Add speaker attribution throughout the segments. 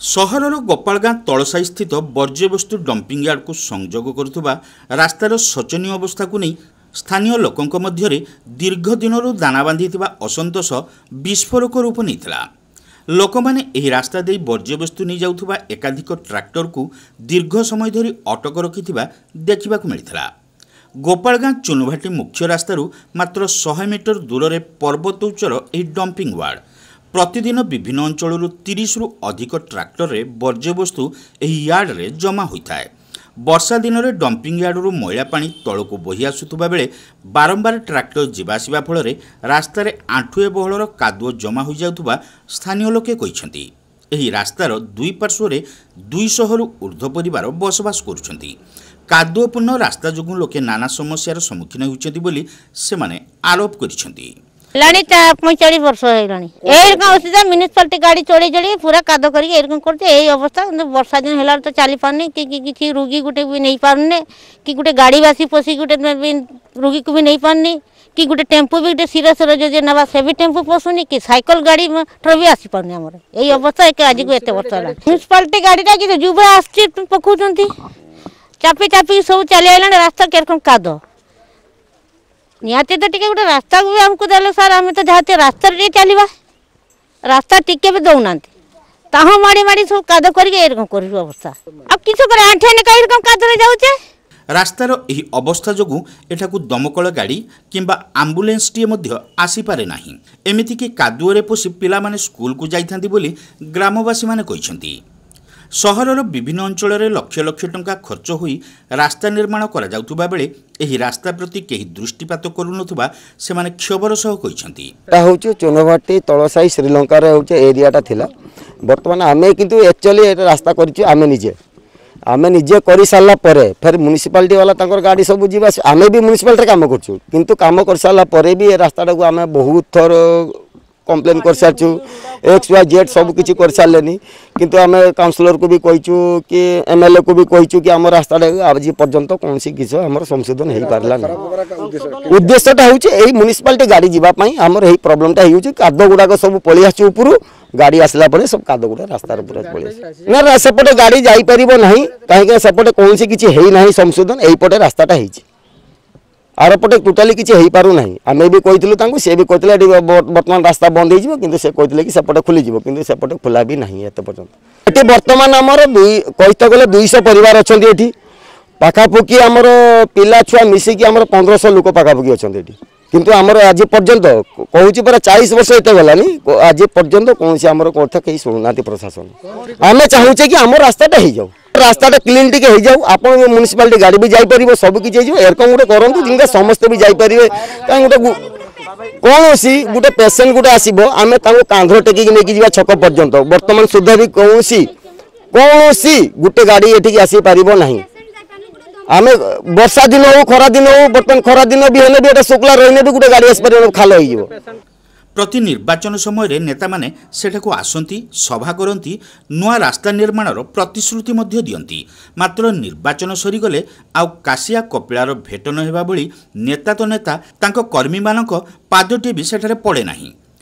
Speaker 1: ସହରର ଗୋପାଳଗାଁ ତଳସାହିସ୍ଥିତ ବର୍ଜ୍ୟବସ୍ତୁ ଡମ୍ପିଂ ୟାର୍ଡକୁ ସଂଯୋଗ କରୁଥିବା ରାସ୍ତାର ଶୋଚନୀୟ ଅବସ୍ଥାକୁ ନେଇ ସ୍ଥାନୀୟ ଲୋକଙ୍କ ମଧ୍ୟରେ ଦୀର୍ଘ ଦିନରୁ ଦାନା ବାନ୍ଧିଥିବା ଅସନ୍ତୋଷ ବିସ୍ଫୋରକ ରୂପ ନେଇଥିଲା। ଲୋକମାନେ ଏହି ରାସ୍ତା ଦେଇ ବର୍ଜ୍ୟବସ୍ତୁ ନେଇଯାଉଥିବା ଏକାଧିକ ଟ୍ରାକ୍ଟରକୁ ଦୀର୍ଘ ସମୟ ଧରି ଅଟକ ରଖିଥିବା ଦେଖିବାକୁ ମିଳିଥିଲା। ଗୋପାଳଗାଁ ଚୁନଭାଟି ମୁଖ୍ୟ ରାସ୍ତାରୁ ମାତ୍ର 100 ମିଟର ଦୂରରେ ପର୍ବତ ଉଚ୍ଚର ଏହି ଡମ୍ପିଂ ୟାର୍ଡ। ପ୍ରତିଦିନ ବିଭିନ୍ନ ଅଞ୍ଚଳରୁ 30ରୁ ଅଧିକ ଟ୍ରାକ୍ଟରରେ ବର୍ଜ୍ୟବସ୍ତୁ ଏହି ୟାର୍ଡରେ ଜମା ହୋଇଥାଏ। ବର୍ଷା ଦିନରେ ଡମ୍ପିଂ ୟାର୍ଡରୁ ମଇଳା ପାଣି ତଳକୁ ବୋହି ଆସୁଥିବା ବେଳେ ବାରମ୍ବାର ଟ୍ରାକ୍ଟର ଯିବା ଆସିବା ଫଳରେ ରାସ୍ତାରେ ଆଣ୍ଠୁଏ ବହଳର କାଦୁଅ ଜମା ହୋଇଯାଉଥିବା ସ୍ଥାନୀୟ ଲୋକେ କହିଛନ୍ତି। ଏହି ରାସ୍ତାର ଦୁଇ ପାର୍ଶ୍ୱରେ 200ରୁ ଉର୍ଦ୍ଧ୍ୱ ପରିବାର ବସବାସ କରୁଛନ୍ତି। କାଦୁଅପୂର୍ଣ୍ଣ ରାସ୍ତା ଯୋଗୁଁ ଲୋକେ ନାନା ସମସ୍ୟାର ସମ୍ମୁଖୀନ ହେଉଛନ୍ତି ବୋଲି ସେମାନେ ଆରୋପ କରିଛନ୍ତି।
Speaker 2: ହେଲାଣି 45 ବର୍ଷ ହେଇଗଲାଣି। ଏଇରକମ ଅସୁବିଧା, ମ୍ୟୁନିସିପାଲିଟି ଗାଡ଼ି ଚଢ଼େଇ ଚଢ଼େଇ ପୁରା କାଦ କରିକି ଏଇରକମ କରୁଛି। ଏଇ ଅବସ୍ଥା। କିନ୍ତୁ ବର୍ଷା ଦିନ ହେଲା ତ ଚାଲି ପାରୁନି କି କିଛି ରୋଗୀ ଗୋଟେ ବି ନେଇପାରୁନି, କି ଗୋଟେ ଗାଡ଼ି ବାସି ପଶିକି ଗୋଟେ ବି ରୋଗୀକୁ ବି ନେଇପାରୁନି, କି ଗୋଟେ ଟେମ୍ପୁ ବି ଗୋଟେ ସିରିୟସ୍ ଯଦି ନେବା ସେ ବି ଟେମ୍ପୁ ପଶୁନି, କି ସାଇକେଲ ଗାଡ଼ି ମଟର ବି ଆସିପାରୁନି। ଆମର ଏଇ ଅବସ୍ଥା ଏକ ଆଜିକୁ ଏତେ ବର୍ଷ ହେଲା। ମ୍ୟୁନିସିପାଲିଟି ଗାଡ଼ିଟା କିନ୍ତୁ ଯୁବ ଆସୁଛି, ପକଉଛନ୍ତି, ଚାପି ଚାପିକି ସବୁ ଚାଲି ଆଇଲାଣି। ରାସ୍ତା କିରକମ କାଦ। ନିହାତି ତ ଟିକେ ଗୋଟେ ରାସ୍ତାକୁ ବି ଆମକୁ ଦେଲେ ସାର୍, ଆମେ ତ ଯାହା ରାସ୍ତାରେ ଟିକେ ଚାଲିବା। ରାସ୍ତା ଟିକେ ବି ଦେଉନାହାନ୍ତି, ତାହା ମାଡ଼ି ମାଡ଼ି ସବୁ କାଦ କରିକି ଏରକମ କରିବୁ ଅବସ୍ଥା। ଆଉ କିଛି କରି ଆଣ୍ଠିଆ ନେକା ଏରକମ କାଦରେ ଯାଉଛେ।
Speaker 1: ରାସ୍ତାର ଏହି ଅବସ୍ଥା ଯୋଗୁଁ ଏଠାକୁ ଦମକଳ ଗାଡ଼ି କିମ୍ବା ଆମ୍ବୁଲାନ୍ସଟିଏ ମଧ୍ୟ ଆସିପାରେ ନାହିଁ। ଏମିତିକି କାଦୁଅରେ ପଶି ପିଲାମାନେ ସ୍କୁଲକୁ ଯାଇଥାନ୍ତି ବୋଲି ଗ୍ରାମବାସୀମାନେ କହିଛନ୍ତି। ସହରର ବିଭିନ୍ନ ଅଞ୍ଚଳରେ ଲକ୍ଷ ଲକ୍ଷ ଟଙ୍କା ଖର୍ଚ୍ଚ ହୋଇ ରାସ୍ତା ନିର୍ମାଣ କରାଯାଉଥିବା ବେଳେ ଏହି ରାସ୍ତା ପ୍ରତି କେହି ଦୃଷ୍ଟିପାତ କରୁନଥିବା ସେମାନେ କ୍ଷୋଭର ସହ କହିଛନ୍ତି।
Speaker 3: ଏଟା ହେଉଛି ଚୁନଭାଟି ତଳସାହି, ଶ୍ରୀଲଙ୍କାରେ ହେଉଛି ଏରିଆଟା ଥିଲା। ବର୍ତ୍ତମାନ ଆମେ କିନ୍ତୁ ଆକ୍ଚୁଆଲି ଏଟା ରାସ୍ତା କରିଛୁ ଆମେ ନିଜେ। ଆମେ ନିଜେ କରିସାରିଲା ପରେ ଫେର ମ୍ୟୁନିସିପାଲିଟି ବାଲା ତାଙ୍କର ଗାଡ଼ି ସବୁ ଯିବା। ଆମେ ବି ମ୍ୟୁନିସିପାଲିଟିରେ କାମ କରୁଛୁ, କିନ୍ତୁ କାମ କରିସାରିଲା ପରେ ବି ଏ ରାସ୍ତାଟାକୁ ଆମେ ବହୁତ ଥର କମ୍ପ୍ଲେନ୍ କରିସାରିଛୁ, ଏକ୍ସ ୱାଇ ଜେଡ୍ ସବୁ କିଛି କରିସାରିଲେନି। କିନ୍ତୁ ଆମେ କାଉନସିଲରକୁ ବି କହିଛୁ କି ଏମ୍ଏଲ୍ଏକୁ ବି କହିଛୁ କି ଆମ ରାସ୍ତାଟା ଆଜି ପର୍ଯ୍ୟନ୍ତ କୌଣସି କିଛି ଆମର ସଂଶୋଧନ ହେଇପାରିଲା ନାହିଁ। ଉଦ୍ଦେଶ୍ୟଟା ହେଉଛି ଏଇ ମ୍ୟୁନିସିପାଲିଟି ଗାଡ଼ି ଯିବା ପାଇଁ ଆମର ଏଇ ପ୍ରୋବ୍ଲେମଟା ହେଉଛି। କାଦ ଗୁଡ଼ାକ ସବୁ ପଳେଇ ଆସୁଛି ଉପରୁ, ଗାଡ଼ି ଆସିଲା ପରେ ସବୁ କାଦ ଗୁଡ଼ା ରାସ୍ତାରେ ପୁରା ପଳେଇ ଆସୁଛି। ନା, ସେପଟେ ଗାଡ଼ି ଯାଇପାରିବ ନାହିଁ, କାହିଁକି ସେପଟେ କୌଣସି କିଛି ହେଇନାହିଁ ସଂଶୋଧନ। ଏଇପଟେ ରାସ୍ତାଟା ହେଇଛି, ଆରପଟେ ଟୋଟାଲି କିଛି ହେଇପାରୁନାହିଁ। ଆମେ ବି କହିଥିଲୁ ତାଙ୍କୁ, ସେ ବି କହିଥିଲେ ଏଠି ବର୍ତ୍ତମାନ ରାସ୍ତା ବନ୍ଦ ହେଇଯିବ, କିନ୍ତୁ ସେ କହିଥିଲେ କି ସେପଟେ ଖୋଲିଯିବ, କିନ୍ତୁ ସେପଟେ ଖୋଲା ବି ନାହିଁ ଏତେ ପର୍ଯ୍ୟନ୍ତ। ଏଠି ବର୍ତ୍ତମାନ ଆମର ଦୁଇ କହିତେ ଗଲେ 200 ପରିବାର ଅଛନ୍ତି ଏଠି ପାଖାପାଖି। ଆମର ପିଲା ଛୁଆ ମିଶିକି ଆମର 1500 ଲୋକ ପାଖାପାଖି ଅଛନ୍ତି ଏଠି। କିନ୍ତୁ ଆମର ଆଜି ପର୍ଯ୍ୟନ୍ତ, କହୁଛି ପରା, 40 ବର୍ଷ ଏତେ ଗଲାନି, ଆଜି ପର୍ଯ୍ୟନ୍ତ କୌଣସି ଆମର କଥା କେହି ଶୁଣୁନାହାନ୍ତି ପ୍ରଶାସନ। ଆମେ ଚାହୁଁଛେ କି ଆମ ରାସ୍ତାଟା ହେଇଯାଉ, ରାସ୍ତାଟା କ୍ଲିନ୍ ଟିକେ ହେଇଯାଉ, ଆପଣ ମ୍ୟୁନିସିପାଲିଟି ଗାଡ଼ି ବି ଯାଇପାରିବ, ସବୁ କିଛି ହେଇଯିବ। ଏରକମ ଗୋଟେ କରନ୍ତୁ ଯେମିତି ସମସ୍ତେ ବି ଯାଇପାରିବେ। କାହିଁ ଗୋଟେ କୌଣସି ଗୋଟେ ପେସେଣ୍ଟ ଗୋଟେ ଆସିବ, ଆମେ ତାଙ୍କୁ କାନ୍ଧରେ ଟେକିକି ନେଇକି ଯିବା ଛକ ପର୍ଯ୍ୟନ୍ତ। ବର୍ତ୍ତମାନ ସୁଦ୍ଧା ବି କୌଣସି ଗୋଟେ ଗାଡ଼ି ଏଠିକି ଆସିପାରିବ ନାହିଁ। ଆମେ ବର୍ଷା ଦିନ ହଉ, ଖରା ଦିନ ହଉ, ବର୍ତ୍ତମାନ ଖରା ଦିନ ବି ହେଲେ ବି ଏଟା ଶୁଖିଲା ରହିଲେ ବି ଗୋଟେ ଗାଡ଼ି ଆସିପାରିବ, ଖାଲ ହେଇଯିବ।
Speaker 1: ପ୍ରତି ନିର୍ବାଚନ ସମୟରେ ନେତାମାନେ ସେଠାକୁ ଆସନ୍ତି, ସଭା କରନ୍ତି, ନୂଆ ରାସ୍ତା ନିର୍ମାଣର ପ୍ରତିଶ୍ରୁତି ମଧ୍ୟ ଦିଅନ୍ତି। ମାତ୍ର ନିର୍ବାଚନ ସରିଗଲେ ଆଉ କାଶିଆ କପିଳାର ଭେଟ ନ ହେବା ଭଳି ନେତା ତ ନେତା, ତାଙ୍କ କର୍ମୀମାନଙ୍କ ପାଦଟିଏ ବି ସେଠାରେ ପଡ଼େ ନାହିଁ।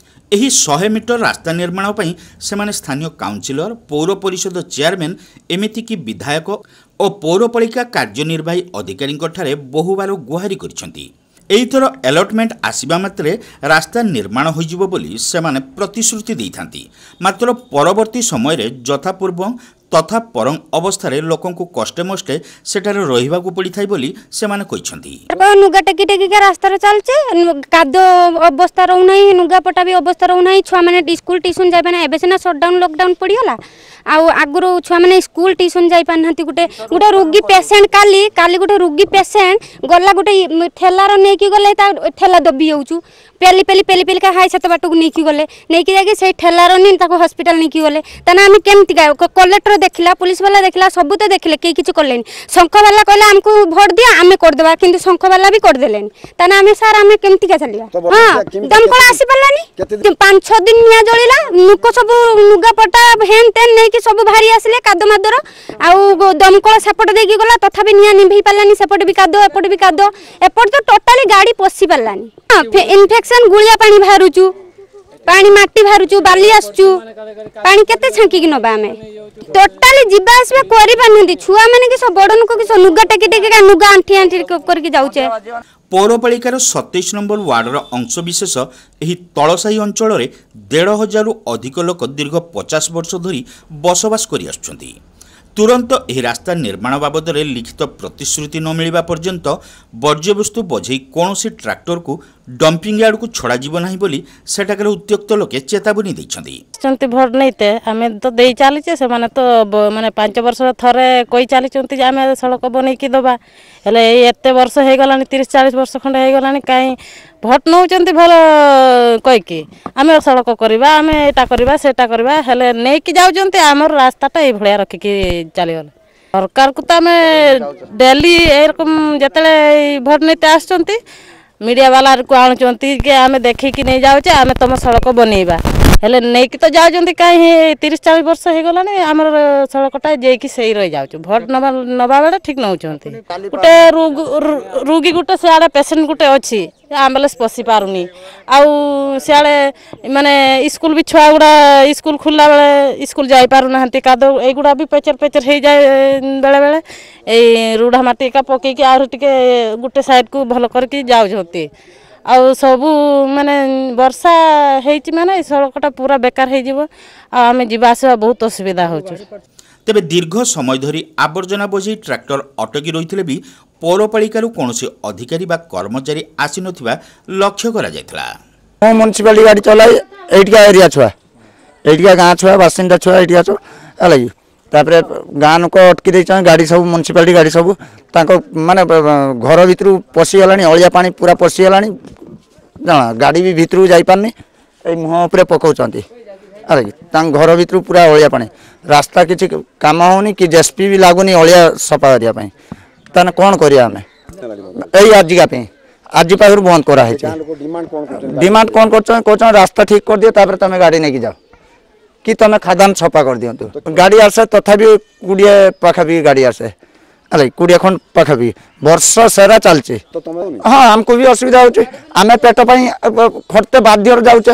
Speaker 1: ଏହି 100 ମିଟର ରାସ୍ତା ନିର୍ମାଣ ପାଇଁ ସେମାନେ ସ୍ଥାନୀୟ କାଉନସିଲର, ପୌର ପରିଷଦ ଚେୟାରମ୍ୟାନ୍, ଏମିତିକି ବିଧାୟକ ଓ ପୌରପାଳିକା କାର୍ଯ୍ୟନିର୍ବାହୀ ଅଧିକାରୀଙ୍କଠାରେ ବହୁବାର ଗୁହାରି କରିଛନ୍ତି। ଏଇଥର ଆଲଟମେଣ୍ଟ ଆସିବା ମାତ୍ରେ ରାସ୍ତା ନିର୍ମାଣ ହୋଇଯିବ ବୋଲି ସେମାନେ ପ୍ରତିଶ୍ରୁତି ଦେଇଥାନ୍ତି। ମାତ୍ର ପରବର୍ତ୍ତୀ ସମୟରେ ଯଥାପୂର୍ବଂ ତଥା ପରଂ ଅବସ୍ଥାରେ ଲୋକଙ୍କୁ କଷ୍ଟେମଷ୍ଟେ ସେଠାରେ ରହିବାକୁ ପଡ଼ିଥାଏ ବୋଲି ସେମାନେ କହିଛନ୍ତି।
Speaker 4: ଲୁଗା ଟେକି ଟେକିକା ରାସ୍ତାରେ ଚାଲୁଛେ, କାଦ ଅବସ୍ଥା ରହୁନାହିଁ, ଲୁଗାପଟା ବି ଅବସ୍ଥା ରହୁନାହିଁ। ଛୁଆମାନେ ସ୍କୁଲ ଟିଉସନ୍ ଯାଇପାରୁନାହିଁ। ଏବେ ସିନା ସଟ୍ଡାଉନ୍ ଲକଡାଉନ୍ ପଡ଼ିଗଲା, ଆଉ ଆଗରୁ ଛୁଆମାନେ ସ୍କୁଲ ଟିଉସନ୍ ଯାଇପାରୁନାହାନ୍ତି। ଗୋଟେ ରୋଗୀ ପେସେଣ୍ଟ, କାଲି ଗୋଟେ ରୋଗୀ ପେସେଣ୍ଟ ଗଲା, ଗୋଟେ ଠେଲାର ନେଇକି ଗଲେ, ତା ଠେଲା ଦବି ଯାଉଛୁ, ପେଲି ପେଲି ପେଲି ପେଲିକା ହାଇ ସାତ ବାଟକୁ ନେଇକି ଗଲେ। ନେଇକି ଯାଇକି ସେଇ ଠେଲାର ନି ତାକୁ ହସ୍ପିଟାଲ ନେଇକି ଗଲେ। ତାହେଲେ ଆମେ କେମିତି? କଲେକ୍ଟର ଦେଖିଲା, ପୁଲିସ ବାଲା ଦେଖିଲା, ସବୁ ତ ଦେଖିଲେ, କେହି କିଛି କଲେନି। ଶଙ୍ଖବାଲା କହିଲା ଆମକୁ ଭୋଟ ଦିଅ, ଆମେ କରିଦେବା, କିନ୍ତୁ ଶଙ୍ଖବାଲା ବି କରିଦେଲେନି। ତାହେଲେ ଆମେ ସାର୍, ଆମେ କେମିତିକା ଚାଲିବା? ହଁ, ଦମକଳ ଆସିପାରିଲାନି। 5 6 ଦିନ ନିଆଁ ଜଳିଲା, ଲୋକ ସବୁ ଲୁଗାପଟା ହେନ୍ ତେନ୍ ନେଇକି ସବୁ ବାହାରି ଆସିଲେ କାଦ ମାଦର। ଆଉ ଦମକଳ ସେପଟେ ଦେଇକି ଗଲା, ତଥାପି ନିଆଁ ନିଭେଇ ପାରିଲାନି। ସେପଟେ ବି କାଦ, ଏପଟେ ବି କାଦ, ଏପଟେ ତ ଟୋଟାଲି ଗାଡ଼ି ପଶି ପାରିଲାନି। ଇନଫେକ୍ସନ୍, ଗୁଳିଆ ପାଣି ବାହାରୁଛୁ, ପାଣି ମାଟି ବାହାରୁଛୁ, ବାଲି ଆସୁଛୁ, ପାଣି କେତେ ଛାଙ୍କିକି ନବା? ଆମେ ଟୋଟାଲି ଯିବା ଆସିବା କରିପାରୁନାହାନ୍ତି, ଛୁଆମାନେ କି ସବୁ ବଡ଼ ଲୋକ କି ସବୁ ଲୁଗା ଟେକି ଟେକି ଲୁଗା ଆଣ୍ଠି ଆଣ୍ଠି କରିକି ଯାଉଛେ।
Speaker 1: ପୌରପାଳିକାର 27 ନମ୍ବର ୱାର୍ଡର ଅଂଶବିଶେଷ ଏହି ତଳସାହି ଅଞ୍ଚଳରେ 1500ରୁ ଅଧିକ ଲୋକ ଦୀର୍ଘ 50 ବର୍ଷ ଧରି ବସବାସ କରିଆସୁଛନ୍ତି। ତୁରନ୍ତ ଏହି ରାସ୍ତା ନିର୍ମାଣ ବାବଦରେ ଲିଖିତ ପ୍ରତିଶ୍ରୁତି ନ ମିଳିବା ପର୍ଯ୍ୟନ୍ତ ବର୍ଜ୍ୟବସ୍ତୁ ବୋଝେଇ କୌଣସି ଟ୍ରାକ୍ଟରକୁ ଡମ୍ପିଂ ୟାର୍ଡକୁ ଛଡ଼ାଯିବ ନାହିଁ ବୋଲି ସେଠାକାର ଉତ୍ତ୍ୟକ୍ତ ଲୋକେ ଚେତାବନୀ ଦେଇଛନ୍ତି।
Speaker 5: ଆସିଛନ୍ତି ଭୋଟ ନେଇତେ, ଆମେ ତ ଦେଇ ଚାଲିଛେ। ସେମାନେ ତ ମାନେ 5 ବର୍ଷ ଥରେ କହି ଚାଲିଛନ୍ତି ଯେ ଆମେ ସଡ଼କ ବନେଇକି ଦେବା। ହେଲେ ଏଇ ଏତେ ବର୍ଷ ହେଇଗଲାଣି, 30 40 ବର୍ଷ ଖଣ୍ଡେ ହେଇଗଲାଣି, କାହିଁ ଭୋଟ ନେଉଛନ୍ତି ଭଲ କହିକି, ଆମେ ସଡ଼କ କରିବା, ଆମେ ଏଇଟା କରିବା, ସେଇଟା କରିବା, ହେଲେ ନେଇକି ଯାଉଛନ୍ତି, ଆମର ରାସ୍ତାଟା ଏଇଭଳିଆ ରଖିକି ଚାଲିଗଲେ। ସରକାରକୁ ତ ଆମେ ଡେଲି ଏରକମ ଯେତେବେଳେ ଭୋଟ ନେଇତେ ଆସୁଛନ୍ତି, ମିଡ଼ିଆ ବାଲାକୁ ଆଣୁଛନ୍ତି କି ଆମେ ଦେଖିକି ନେଇଯାଉଛେ, ଆମେ ତୁମ ସଡ଼କ ବନେଇବା, ହେଲେ ନେଇକି ତ ଯାଉଛନ୍ତି କାହିଁ? 30 40 ବର୍ଷ ହେଇଗଲାଣି, ଆମର ସଡ଼କଟା ଯାଇକି ସେଇ ରହିଯାଉଛୁ। ଭୋଟ ନେବା ବେଳେ ଠିକ୍ ନେଉଛନ୍ତି। ଗୋଟେ ରୋଗୀ ଗୋଟେ ସିଆଡ଼େ ପେସେଣ୍ଟ ଗୋଟେ ଅଛି, ଆମ୍ବୁଲାନ୍ସ ପଶି ପାରୁନି। ଆଉ ସିଆଡ଼େ ମାନେ ସ୍କୁଲ ବି ଛୁଆ ଗୁଡ଼ା ସ୍କୁଲ ଖୋଲିଲା ବେଳେ ସ୍କୁଲ ଯାଇପାରୁନାହାନ୍ତି। କାଦ ଏଇଗୁଡ଼ା ବି ପେଚର ପେଚର ହେଇଯାଏ ବେଳେବେଳେ। ଏଇ ରୁଢ଼ା ମାଟି ଏକା ପକେଇକି ଆହୁରି ଟିକେ ଗୋଟେ ସାଇଡ଼କୁ ଭଲ କରିକି ଯାଉଛନ୍ତି। ଆଉ ସବୁ ମାନେ ବର୍ଷା ହେଇଛି ମାନେ ଏ ସଡ଼କଟା ପୁରା ବେକାର ହେଇଯିବ, ଆଉ ଆମେ ଯିବା ଆସିବା ବହୁତ ଅସୁବିଧା ହେଉଛୁ।
Speaker 1: ତେବେ ଦୀର୍ଘ ସମୟ ଧରି ଆବର୍ଜନା ବୋଝେଇ ଟ୍ରାକ୍ଟର ଅଟକି ରହିଥିଲେ ବି ପୌରପାଳିକାରୁ କୌଣସି ଅଧିକାରୀ ବା କର୍ମଚାରୀ ଆସିନଥିବା ଲକ୍ଷ୍ୟ କରାଯାଇଥିଲା।
Speaker 6: ମୁଁ ମ୍ୟୁନିସିପାଲିଟି ଗାଡ଼ି ଚଲାଏ। ଏଇଠିକା ଏରିଆ ଛୁଆ, ଏଇଠିକା ଗାଁ ଛୁଆ, ବାସିନ୍ଦା ଛୁଆ, ଏଇଠିକା ଛୁଆ ହେଲା କି। ତାପରେ ଗାଁ ଲୋକ ଅଟକି ଦେଇଛନ୍ତି ଗାଡ଼ି ସବୁ, ମ୍ୟୁନିସିପାଲିଟି ଗାଡ଼ି ସବୁ ତାଙ୍କ ମାନେ ଘର ଭିତରୁ ପଶିଗଲାଣି, ଅଳିଆ ପାଣି ପୁରା ପଶିଗଲାଣି ଜାଣ, ଗାଡ଼ି ବି ଭିତରକୁ ଯାଇପାରୁନି, ଏଇ ମୁହଁ ଉପରେ ପକାଉଛନ୍ତି ହେଲା କି। ତାଙ୍କ ଘର ଭିତରୁ ପୁରା ଅଳିଆ ପାଣି, ରାସ୍ତା କିଛି କାମ ହେଉନି କି ଜେସିବି ବି ଲାଗୁନି ଅଳିଆ ସଫା କରିବା ପାଇଁ। ତାହେଲେ କ'ଣ କରିବା ଆମେ? ଏଇ ଆଜିକା ପାଇଁ ଆଜି ପାଖରୁ ବନ୍ଦ କରାହେଇଛି। ଡିମାଣ୍ଡ କ'ଣ କରୁଛନ୍ତି? କହୁଛନ୍ତି ରାସ୍ତା ଠିକ୍ କରିଦିଅ, ତାପରେ ତମେ ଗାଡ଼ି ନେଇକି ଯାଅ, କି ତମେ ଖାଦାନ ସଫା କରିଦିଅନ୍ତୁ। ଗାଡ଼ି ଆସେ ତଥାପି 20 ପାଖାପାଖି ଗାଡ଼ି ଆସେ ହେଲା, 20 ଖଣ୍ଡ ପାଖାପାଖି ବର୍ଷ ସାରା ଚାଲିଛି। ହଁ, ଆମକୁ ବି ଅସୁବିଧା ହେଉଛି, ଆମେ ପେଟ ପାଇଁ ଖଟତେ ବାଧ୍ୟରେ ଯାଉଛେ।